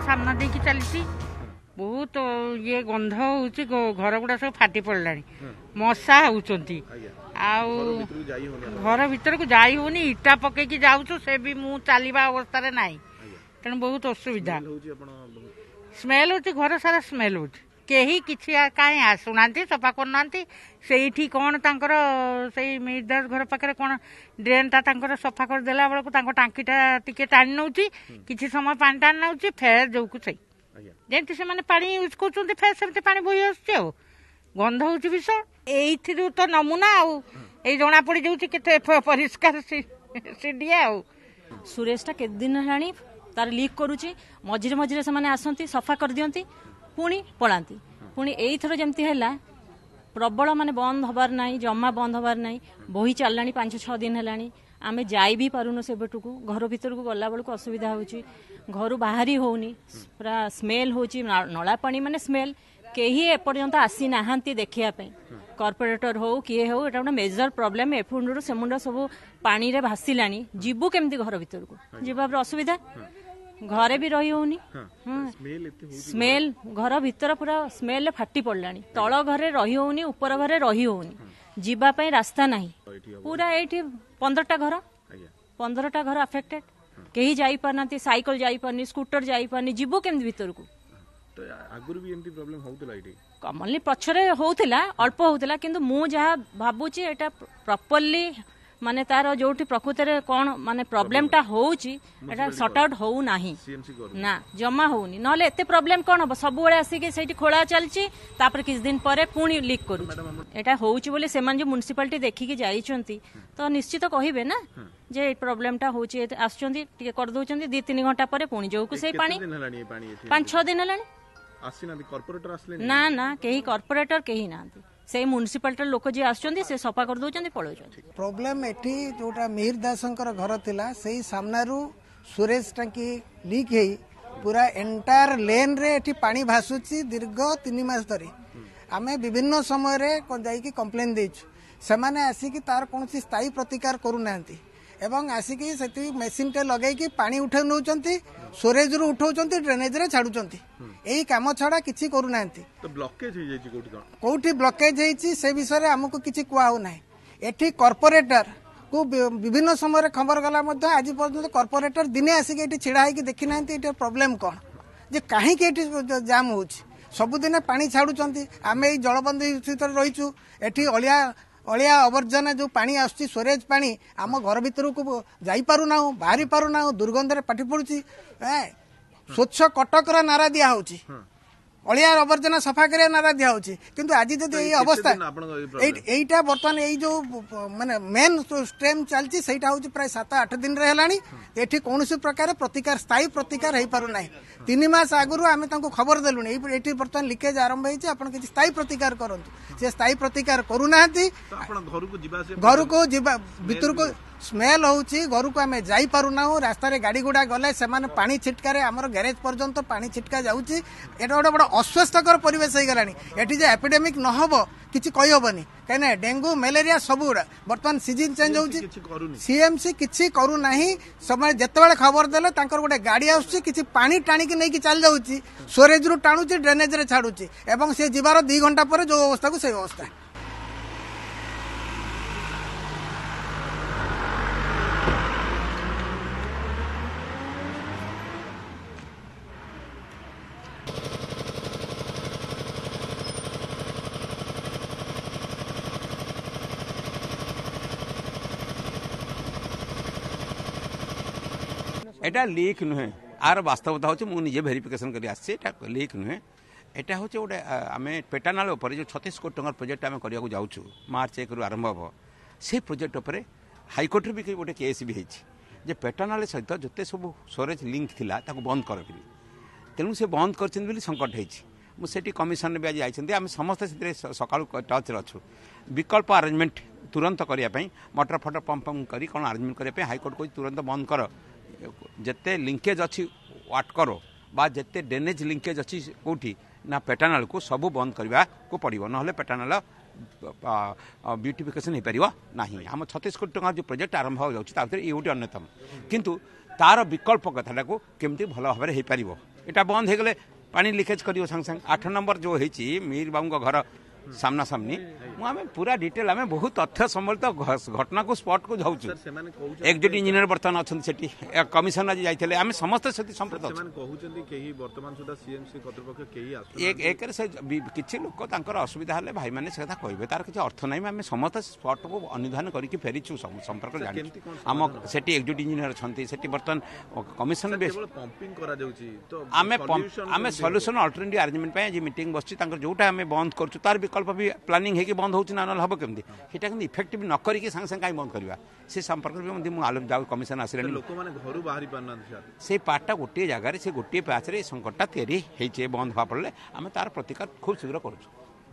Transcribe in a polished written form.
ସାମ୍ନା ଦେଇକି ଚାଲିଛି। ବହୁତ ଇଏ ଗନ୍ଧ ହେଉଛି, ଘର ଗୁଡ଼ା ସବୁ ଫାଟି ପଡ଼ିଲାଣି, ମଶା ହେଉଛନ୍ତି, ଆଉ ଘର ଭିତରକୁ ଯାଇ ହେଉନି। ଇଟା ପକେଇକି ଯାଉଛୁ, ସେ ବି ମୁଁ ଚାଲିବା ଅବସ୍ଥାରେ ନାହିଁ, ତେଣୁ ବହୁତ ଅସୁବିଧା। ସ୍ମେଲ୍ ହେଉଛି, ଘର ସାରା ସ୍ମେଲ୍ ହେଉଛି। କେହି କିଛି କାହିଁ ଆସୁନାହାନ୍ତି, ସଫା କରୁନାହାନ୍ତି। ସେଇଠି କ'ଣ ତାଙ୍କର ସେଇ ମିହିର ଦାସ ଘର ପାଖରେ କ'ଣ ଡ୍ରେନ୍ଟା ତାଙ୍କର ସଫା କରିଦେଲା ବେଳକୁ ତାଙ୍କ ଟାଙ୍କିଟା ଟିକେ ଟାଣି ନେଉଛି, କିଛି ସମୟ ପାଣି ଟାଣି ନେଉଛି, ଫେର ଯୋଉକୁ ସେଇ ଯେମିତି ସେମାନେ ପାଣି ୟୁଜ୍ କରୁଛନ୍ତି ଫେର ସେମିତି ପାଣି ବୋହି ଆସୁଛି, ଆଉ ଗନ୍ଧ ହେଉଛି ବିଷ। ଏଇଥିରୁ ତ ନମୁନା ଆଉ ଏଇ ଜଣା ପଡ଼ିଯାଉଛି କେତେ ପରିଷ୍କାର ସିଡିଏ। ଆଉ ସୁରେଶଟା କେତେ ଦିନ ହେଲାଣି ତାର ଲିକ୍ କରୁଛି। ମଝିରେ ମଝିରେ ସେମାନେ ଆସନ୍ତି, ସଫା କରିଦିଅନ୍ତି, ପୁଣି ପଳାନ୍ତି। ପୁଣି ଏଇଥର ଯେମିତି ହେଲା ପ୍ରବଳ, ମାନେ ବନ୍ଦ ହବାର ନାହିଁ, ଜମା ବନ୍ଦ ହବାର ନାହିଁ, ବହି ଚାଲିଲାଣି 5-6 ଦିନ ହେଲାଣି। ଆମେ ଯାଇ ବି ପାରୁନୁ ସେପଟକୁ, ଘର ଭିତରକୁ ଗଲା ବେଳକୁ ଅସୁବିଧା ହେଉଛି, ଘରୁ ବାହାରି ହେଉନି, ପୁରା ସ୍ମେଲ୍ ହେଉଛି, ନଳା ପାଣି ମାନେ ସ୍ମେଲ୍। କେହି ଏପର୍ଯ୍ୟନ୍ତ ଆସିନାହାନ୍ତି ଦେଖିବା ପାଇଁ, କର୍ପୋରେଟର ହଉ କିଏ ହଉ। ଏଇଟା ଗୋଟେ ମେଜର ପ୍ରୋବ୍ଲେମ୍। ଏଫୁଣ୍ଡରୁ ସେମୁଣ୍ଡ ସବୁ ପାଣିରେ ଭାସିଲାଣି, ଯିବୁ କେମିତି ଘର ଭିତରକୁ? ଯିବା ଅସୁବିଧା, ଘରେ ବି ରହି ହଉନି। ସ୍ମେଲ୍ ଘର ଭିତର ପୁରା ସ୍ମେଲରେ ଫାଟି ପଡ଼ିଲାଣି। ତଳ ଘରେ ରହି ହଉନି, ଉପର ଘରେ ରହି ହଉନି, ଯିବା ପାଇଁ ରାସ୍ତା ନାହିଁ। ପୁରା ଏଇଠି 15ଟା ଘର, 15ଟା ଘର ଆଫେକ୍ଟେଡ୍। କେହି ଯାଇପାରୁନାହାନ୍ତି, ସାଇକେଲ ଯାଇପାରୁନି, ସ୍କୁଟର ଯାଇପାରୁନି, ଯିବୁ କେମିତି ଭିତରକୁ? କମନଲି ପଛରେ ହଉଥିଲା, ଅଳ୍ପ ହଉଥିଲା, କିନ୍ତୁ ମୁଁ ଯାହା ଭାବୁଛି ଏଇଟା ପ୍ରପରଲି ମାନେ ତାର ଯୋଉଠି ପ୍ରକୃତରେ କ'ଣ ମାନେ ପ୍ରୋବ୍ଲେମଟା ହଉଛି ଏଟା ସର୍ଟ ଆଉଟ୍ ହଉନାହିଁ ନା, ଜମା ହଉନି। ନହେଲେ ଏତେ ପ୍ରୋବ୍ଲେମ କ'ଣ ହବ? ସବୁବେଳେ ଆସିକି ସେଇଠି ଖୋଳା ଚାଲିଛି, ତାପରେ କିଛି ଦିନ ପରେ ପୁଣି ଲିକ୍ କରୁଛି। ଏଇଟା ହଉଛି ବୋଲି ସେମାନେ ଯୋଉ ମ୍ୟୁନିସିପାଲିଟି ଦେଖିକି ଯାଇଛନ୍ତି ତ ନିଶ୍ଚିତ କହିବେ ନା ଯେ ଏଇ ପ୍ରୋବ୍ଲେମଟା ହଉଛି। ଆସୁଛନ୍ତି, ଟିକେ କରିଦଉଛନ୍ତି, 2-3 ଘଣ୍ଟା ପରେ ପୁଣି ଯୋଉକୁ ସେଇ ପାଣି। 5-6 ଦିନ ହେଲାଣି। ନା ନା, କେହି କର୍ପୋରେଟର କେହି ନାହାନ୍ତି। ସେଇ ମ୍ୟୁନିସିପାଲିଟିର ଲୋକ ଯିଏ ଆସୁଛନ୍ତି ସେ ସଫା କରିଦଉଛନ୍ତି, ପଳଉଛନ୍ତି। ପ୍ରୋବ୍ଲେମ ଏଠି ଯୋଉଟା ମିହିର ଦାସଙ୍କର ଘର ଥିଲା, ସେଇ ସାମ୍ନାରୁ ସୁରେଶ ଟାଙ୍କି ଲିକ୍ ହେଇ ପୁରା ଏଣ୍ଟାୟାର ଲେନ୍ରେ ଏଠି ପାଣି ଭାସୁଛି ଦୀର୍ଘ 3 ମାସ ଧରି। ଆମେ ବିଭିନ୍ନ ସମୟରେ ଯାଇକି କମ୍ପ୍ଲେନ୍ ଦେଇଛୁ, ସେମାନେ ଆସିକି ତାର କୌଣସି ସ୍ଥାୟୀ ପ୍ରତିକାର କରୁନାହାନ୍ତି ଏବଂ ଆସିକି ସେଠି ମେସିନ୍ଟେ ଲଗେଇକି ପାଣି ଉଠେଇ ନେଉଛନ୍ତି, ସ୍ୱରେଜରୁ ଉଠାଉଛନ୍ତି, ଡ୍ରେନେଜରେ ଛାଡୁଛନ୍ତି। ଏଇ କାମ ଛଡା କିଛି କରୁନାହାନ୍ତି। କୋଉଠି ବ୍ଲକେଜ ହେଇଛି ସେ ବିଷୟରେ ଆମକୁ କିଛି କୁହା ହଉନାହିଁ। ଏଠି କର୍ପୋରେଟର କୁ ବିଭିନ୍ନ ସମୟରେ ଖବର ଗଲା ମଧ୍ୟ ଆଜି ପର୍ଯ୍ୟନ୍ତ କର୍ପୋରେଟର ଦିନେ ଆସିକି ଏଠି ଛିଡ଼ା ହେଇକି ଦେଖିନାହାନ୍ତି ଏଠି ପ୍ରୋବ୍ଲେମ କ'ଣ, ଯେ କାହିଁକି ଏଠି ଜାମ୍ ହେଉଛି। ସବୁଦିନେ ପାଣି ଛାଡୁଛନ୍ତି। ଆମେ ଏଇ ଜଳବନ୍ଦୀ ଭିତରେ ରହିଛୁ। ଏଠି ଅଳିଆ ଆବର୍ଜନା ଯେଉଁ ପାଣି ଆସୁଛି, ସ୍ୱରେଜ ପାଣି ଆମ ଘର ଭିତରକୁ ଯାଇପାରୁନାହୁଁ, ବାହାରି ପାରୁନାହୁଁ, ଦୁର୍ଗନ୍ଧରେ ପାଟି ପଡୁଛି। ସ୍ୱଚ୍ଛ କଟକର ନାରା ଦିଆହଉଛି, ଅଳିଆ ଆବର୍ଜନା ସଫା କରିବା ନାରା ଦିଆହଉଛି, କିନ୍ତୁ ଆଜି ଯଦି ଏଇ ଅବସ୍ଥା। ଏଇଟା ବର୍ତ୍ତମାନ ଏଇ ଯୋଉ ମାନେ ମେନ୍ ଷ୍ଟ୍ରେମ୍ ଚାଲିଛି ସେଇଟା ହଉଛି ପ୍ରାୟ 7-8 ଦିନରେ ହେଲାଣି। ଏଠି କୌଣସି ପ୍ରକାର ପ୍ରତିକାର, ସ୍ଥାୟୀ ପ୍ରତିକାର ହେଇପାରୁନାହିଁ। 3 ମାସ ଆଗରୁ ଆମେ ତାଙ୍କୁ ଖବର ଦେଲୁଣି, ଏଇଠି ବର୍ତ୍ତମାନ ଲିକେଜ ଆରମ୍ଭ ହେଇଛି, ଆପଣ କିଛି ସ୍ଥାୟୀ ପ୍ରତିକାର କରନ୍ତୁ। ସେ ସ୍ଥାୟୀ ପ୍ରତିକାର କରୁନାହାନ୍ତି। ଘରକୁ ଯିବା ଭିତରକୁ ସ୍ମେଲ୍ ହେଉଛି, ଘରକୁ ଆମେ ଯାଇପାରୁନାହୁଁ। ରାସ୍ତାରେ ଗାଡ଼ି ଗୁଡ଼ା ଗଲେ ସେମାନେ ପାଣି ଛିଟକାରେ ଆମର ଗ୍ୟାରେଜ ପର୍ଯ୍ୟନ୍ତ ପାଣି ଛିଟକା ଯାଉଛି। ଏଇଟା ଗୋଟେ ବଡ଼ ଅସ୍ୱାସ୍ଥ୍ୟକର ପରିବେଶ ହେଇଗଲାଣି। ଏଠି ଯେ ଏପିଡେମିକ୍ ନ ହେବ କିଛି କହିହେବନି, କାହିଁକିନା ଡେଙ୍ଗୁ, ମ୍ୟାଲେରିଆ ସବୁଗୁଡ଼ା ବର୍ତ୍ତମାନ ସିଜିନ୍ ଚେଞ୍ଜ ହେଉଛି। ସିଏମସି କିଛି କରୁନାହିଁ। ସେମାନେ ଯେତେବେଳେ ଖବର ଦେଲେ ତାଙ୍କର ଗୋଟେ ଗାଡ଼ି ଆସୁଛି, କିଛି ପାଣି ଟାଣିକି ନେଇକି ଚାଲି ଯାଉଛି, ସ୍ୱରେଜରୁ ଟାଣୁଛି, ଡ୍ରେନେଜରେ ଛାଡୁଛି, ଏବଂ ସେ ଯିବାର 2 ଘଣ୍ଟା ପରେ ଯୋଉ ଅବସ୍ଥାକୁ ସେଇ ଅବସ୍ଥା। ଏଇଟା ଲିକ୍ ନୁହେଁ, ଆର ବାସ୍ତବତା ହେଉଛି ମୁଁ ନିଜେ ଭେରିଫିକେସନ୍ କରି ଆସିଛି। ଏଇଟା ଲିକ୍ ନୁହେଁ, ଏଇଟା ହେଉଛି ଗୋଟେ ଆମେ ପେଟାନାଳ ଉପରେ ଯେଉଁ 36 କୋଟି ଟଙ୍କାର ପ୍ରୋଜେକ୍ଟ ଆମେ କରିବାକୁ ଯାଉଛୁ, ମାର୍ଚ୍ଚ 1ରୁ ଆରମ୍ଭ ହେବ, ସେ ପ୍ରୋଜେକ୍ଟ ଉପରେ ହାଇକୋର୍ଟରେ ବି ଗୋଟେ କେସ୍ ବି ହେଇଛି ଯେ ପେଟାନାଳ ସହିତ ଯେତେ ସବୁ ସ୍ୱରେଜ ଲିଙ୍କ ଥିଲା ତାକୁ ବନ୍ଦ କର ବୋଲି। ତେଣୁ ସେ ବନ୍ଦ କରିଛନ୍ତି ବୋଲି ସଙ୍କଟ ହେଇଛି। ମୁଁ ସେଠି କମିଶନରେ ବି ଆଜି ଯାଇଛନ୍ତି, ଆମେ ସମସ୍ତେ ସେଥିରେ ସକାଳୁ ଟଚ୍ରେ ଅଛୁ। ବିକଳ୍ପ ଆରେଞ୍ଜମେଣ୍ଟ ତୁରନ୍ତ କରିବା ପାଇଁ ମଟର ଫଟର ପମ୍ପ ପମ୍ପ କରି କ'ଣ ଆରେଞ୍ଜମେଣ୍ଟ କରିବା ପାଇଁ ହାଇକୋର୍ଟ କହୁଛି ତୁରନ୍ତ ବନ୍ଦ କର। ଯେତେ ଲିଙ୍କେଜ୍ ଅଛି ୱାଟକର ବା ଯେତେ ଡ୍ରେନେଜ୍ ଲିଙ୍କେଜ୍ ଅଛି କେଉଁଠି ନା ପେଟାନାଳକୁ ସବୁ ବନ୍ଦ କରିବାକୁ ପଡ଼ିବ, ନହେଲେ ପେଟାନାଳ ବ୍ୟୁଟିଫିକେସନ୍ ହେଇପାରିବ ନାହିଁ। ଆମ 36 କୋଟି ଟଙ୍କାର ଯେଉଁ ପ୍ରୋଜେକ୍ଟ ଆରମ୍ଭ ହେବାକୁ ଯାଉଛି ତା ଭିତରେ ଇଏ ଗୋଟେ ଅନ୍ୟତମ, କିନ୍ତୁ ତାର ବିକଳ୍ପ କଥାଟାକୁ କେମିତି ଭଲ ଭାବରେ ହେଇପାରିବ। ଏଇଟା ବନ୍ଦ ହେଇଗଲେ ପାଣି ଲିକେଜ୍ କରିବ ସାଙ୍ଗେ ସାଙ୍ଗେ। 8 ନମ୍ବର ଯେଉଁ ହେଇଛି ମିହିର ବାବୁଙ୍କ ଘର ସାମ୍ନାସାମ୍ନି, ମୁଁ ଆମେ ପୁରା ଡିଟେଲ, ଆମେ ବହୁତ ତଥ୍ୟ ସମ୍ବଳିତ ଘଟଣାକୁ ସ୍ପଟକୁ ଯାଉଛୁ। ଏକ୍ଜିକ୍ୟୁଟିଭ ଇଞ୍ଜିନିୟର ବର୍ତ୍ତମାନ ଅଛନ୍ତି ସେଠି, କମିଶନ ଆଜି ଯାଇଥିଲେ, ଆମେ ସମସ୍ତେ ସେଠି ସମ୍ପୃକ୍ତ ଅଛୁ। ଏକରେ ସେ କିଛି ଲୋକ ତାଙ୍କର ଅସୁବିଧା ହେଲେ ଭାଇମାନେ ସେ କଥା କହିବେ, ତାର କିଛି ଅର୍ଥ ନାହିଁ। ଆମେ ସମସ୍ତେ ସ୍ପଟକୁ ଅନୁଧ୍ୟାନ କରିକି ଫେରିଛୁ, ସମ୍ପର୍କ ଜାଣିଛୁ। ଆମ ସେଠି ଏକ୍ଜିକ୍ୟୁଟିଭ ଇଞ୍ଜିନିୟର ଅଛନ୍ତି ସେଠି, ବର୍ତ୍ତମାନ କମିଶନ। ଆମେ ସଲ୍ୟୁସନ ଅଲ୍ଟରନେଟିଭ ଆରେଞ୍ଜମେଣ୍ଟ ପାଇଁ ଆଜି ମିଟିଂ ବସିଛି। ତାଙ୍କର ଯୋଉଟା ଆମେ ବନ୍ଦ କରୁଛୁ ତାର ବିକଳ୍ପ ବି ପ୍ଲାନିଂ ହେଇକି ବନ୍ଦ ହେଉଛି ନା, ନହେଲେ ହେବ କେମିତି? ସେଇଟା କିନ୍ତୁ ଇଫେକ୍ଟିଭ ନ କରିକି ସାଙ୍ଗେ ସାଙ୍ଗେ କାହିଁ ବନ୍ଦ କରିବା, ସେ ସମ୍ପର୍କରେ ବି ମଧ୍ୟ ମୁଁ ଆଲୋଚନା ଯାଉ। କମିଶନ ଆସିଲେଣି। ଲୋକମାନେ ଘରୁ ବାହାରି ପାରୁନାହାନ୍ତି। ସେଇ ପାର୍ଟଟା ଗୋଟିଏ ଜାଗାରେ, ସେ ଗୋଟିଏ ପ୍ୟାଚରେ ଏ ସଙ୍କଟଟା ତିଆରି ହେଇଛି। ବନ୍ଦ ହେବା ଫଳରେ ଆମେ ତାର ପ୍ରତିକାର ଖୁବ୍ ଶୀଘ୍ର କରୁଛୁ।